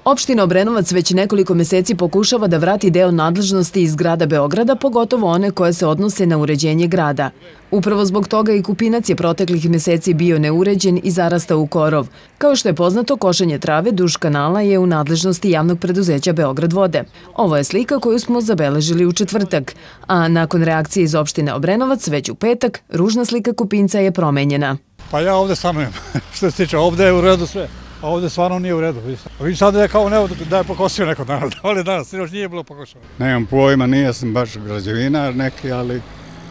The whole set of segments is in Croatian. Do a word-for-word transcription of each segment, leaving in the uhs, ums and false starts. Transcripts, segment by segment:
Opština Obrenovac već nekoliko meseci pokušava da vrati deo nadležnosti iz grada Beograda, pogotovo one koje se odnose na uređenje grada. Upravo zbog toga i Kupinac je proteklih meseci bio neuređen i zarastao u korov. Kao što je poznato, košenje trave duž kanala je u nadležnosti javnog preduzeća Beograd vode. Ovo je slika koju smo zabeležili u četvrtak, a nakon reakcije iz opštine Obrenovac već u petak, ružna slika Kupinca je promenjena. Pa ja ovde stanujem, što se tiče, ovde je u redu sve. A ovde stvarno nije u redu. Vidim sad da je kao nevo da je pokosio neko danas, da li danas, još nije bilo pokošeno. Nemam pojma, nije sam baš građevinar neki, ali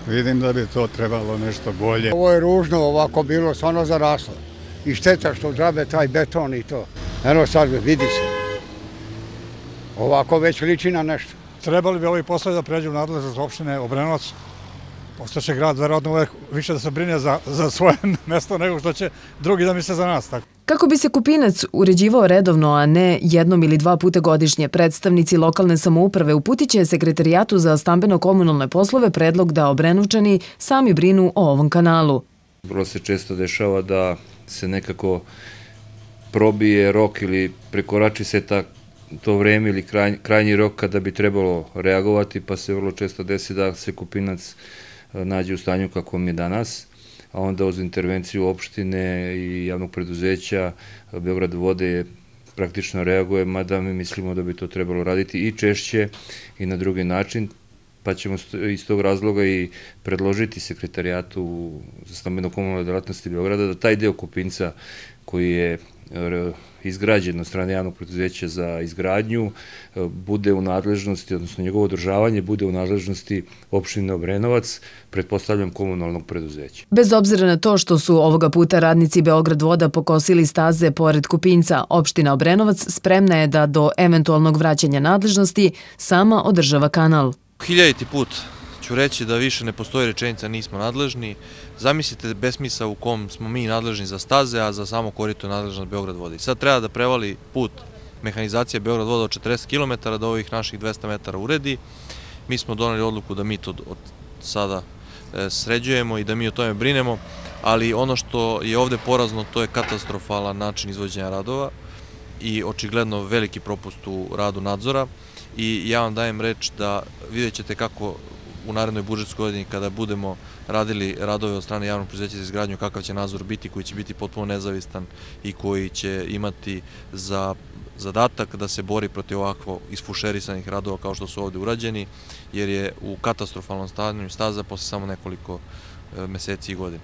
vidim da bi to trebalo nešto bolje. Ovo je ružno ovako bilo, stvarno zaraslo. I šteta što džabe taj beton i to. Eno sad vidi se. Ovako već liči na nešto. Trebali bi ovi poslovi da pređu u nadležnost opštine Obrenovac. Postaće grad verovatno uvek više da se brine za, za svoje mesto nego što će drugi da misle za nas. Tako. Kako bi se Kupinac uređivao redovno, a ne jednom ili dva puta godišnje, predstavnici lokalne samouprave uputiće Sekretarijatu za stambeno-komunalne poslove predlog da Obrenovčani sami brinu o ovom kanalu. Vrlo se često dešava da se nekako probije rok ili prekorači se ta, to vreme ili kraj, krajnji rok kada bi trebalo reagovati, pa se vrlo često desi da se Kupinac nađe u stanju kakvom je danas, a onda uz intervenciju opštine i javnog preduzeća Beograd vode praktično reaguje, mada mi mislimo da bi to trebalo raditi i češće i na drugi način, pa ćemo iz tog razloga i predložiti Sekretarijatu za stambeno-komunalne delatnosti Beograda da taj deo Kupinca koji je izgrađen od strane javnog preduzeća za izgradnju bude u nadležnosti, odnosno njegovo održavanje bude u nadležnosti opštine Obrenovac, pretpostavljam komunalnog preduzeća. Bez obzira na to što su ovoga puta radnici Beograd voda pokosili staze pored Kupinca, opština Obrenovac spremna je da do eventualnog vraćanja nadležnosti sama održava kanal. Hiljaditi put ću reći da više ne postoji rečenica nismo nadležni. Zamislite besmisa u kom smo mi nadležni za staze, a za samo korito je nadležna Beograd voda. I sad treba da prevali put mehanizacije Beograd voda od četrdeset kilometara do ovih naših dvesta metara uredi. Mi smo doneli odluku da mi to od sada sređujemo i da mi o tome brinemo, ali ono što je ovde porazno to je katastrofalan način izvođenja radova i očigledno veliki propust u radu nadzora. I ja vam dajem reč da vidjet ćete kako u narednoj budžetskoj godini kada budemo radili radove od strane javnog preduzeća za izgradnju, kakav će nadzor biti, koji će biti potpuno nezavistan i koji će imati za zadatak da se bori protiv ovakvo isfušerisanih radova kao što su ovde urađeni, jer je u katastrofalnom stanju staza posle samo nekoliko meseci i godina.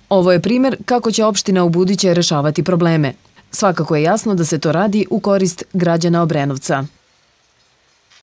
Ovo je primer kako će opština ubuduće rešavati probleme. Svakako je jasno da se to radi u korist građana Obrenovca.